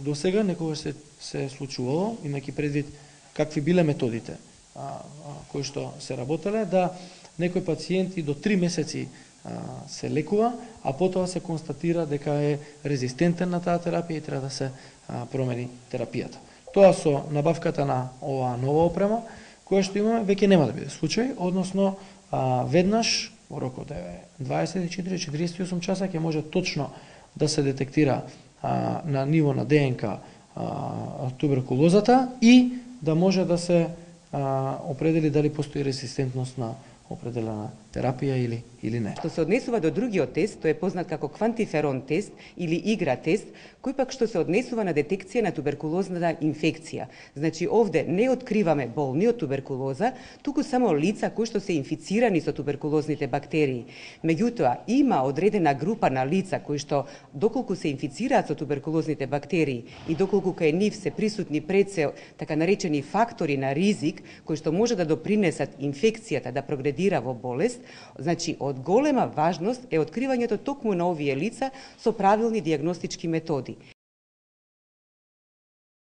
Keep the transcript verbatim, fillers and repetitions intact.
До сега некогаш се, се случувало, имајќи предвид какви биле методите а, а, кои што се работеле, да некои пациенти до три месеци а, се лекува, а потоа се констатира дека е резистентен на таа терапија и треба да се а, промени терапијата. Тоа со набавката на оваа нова опрема, која што имаме, веќе нема да биде случај, односно а, веднаш во рок од дваесет и четири до четириесет и осум часа ќе може точно да се детектира а, на ниво на ДНК а, туберкулозата и да може да се а, определи дали постои резистентност на определена терапија или или не. Што се однесува до другиот тест, тој е познат како квантиферон тест или игра тест, кој пак што се однесува на детекција на туберкулозната инфекција. Значи овде не откриваме болни од туберкулоза, туку само лица кои што се инфицирани со туберкулозните бактерии. Меѓутоа има одредена група на лица кои што доколку се инфицираат со туберкулозните бактерии и доколку кај нив се присутни пред се така наречени фактори на ризик кои што може да допринесат инфекцијата да прогредира во болест, значи од голема важност е откривањето токму на овие лица со правилни дијагностички методи.